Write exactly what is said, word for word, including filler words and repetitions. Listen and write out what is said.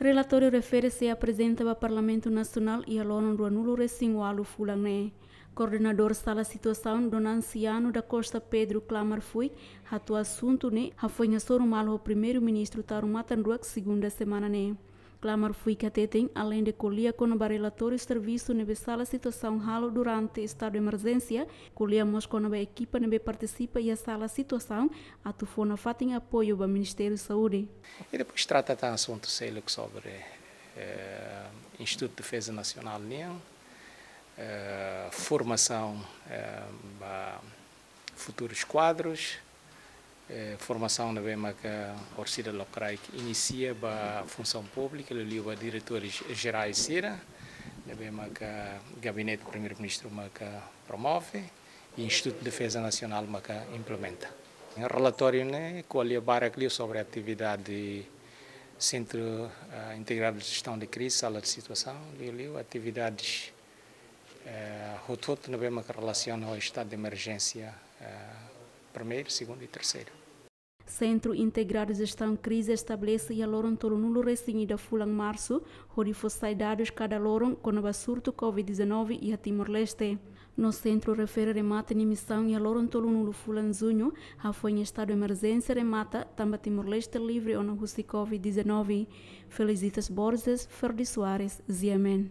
Relatóriu refere sei aprezenta ba Parlamentu Nasionál iha loron ruanulu-resin-ualu fulan ne'e. Koordenadór Sala Situasaun, Dona Anciano da Costa Pedro, klamar fuik hatuur asuntu ne'e hafoin hasoru malu ho Primeiru-Ministru Taur Matan Ruak, segunda semana ne'e. Klamar fuik hateten, aleinde ko'alia kona-ba relatóriu servisu ne'ebé Sala Situasaun halo durante estadu emerjénsia, ko'alia mós kona-ba ekipa ne'ebé partisipa iha Sala Situasaun atu fó nafatin apoiu ba Ministériu Saúde. E depois trata tan asuntu seluk sobre, eh, Institutu Defeza Nasionál nian, eh, formasaun, eh, ba futurus kuadrus, eh, formasaun ne'ebé maka orsida lokraik inisia ba Funsaun Públika, liuliu ba diretores jerais sira, ne'ebé maka Gabinete Primeiru-Ministru maka promove, i Institutu Defeza Nasionál maka implementa. Relatóriu ne'e ko'alia barak liu sobre atividade Sentru, eh, Integradu de Jestaun de Krize, Sala de Situasaun, liuliu atividades, eh, hotu-hotu ne'ebé maka relasiona ho estadu de emerjénsia, eh, primeiru, segundu i terseiru. Sentru Integradu Jestaun Krize estabelese iha loron tolunulu-resin-ida fulan Marsu, hodi fó sai dadus kada loron kona-ba surtu Covid dezanove iha Timor-Leste. No sentru refere remata nia misaun iha loron tolunulu fulan Juñu, hafoin estadu emerjénsia remata, tanba Timor-Leste livre ona husi Covid dezanove. Felicitas Borges, Ferdi Soares, G M N.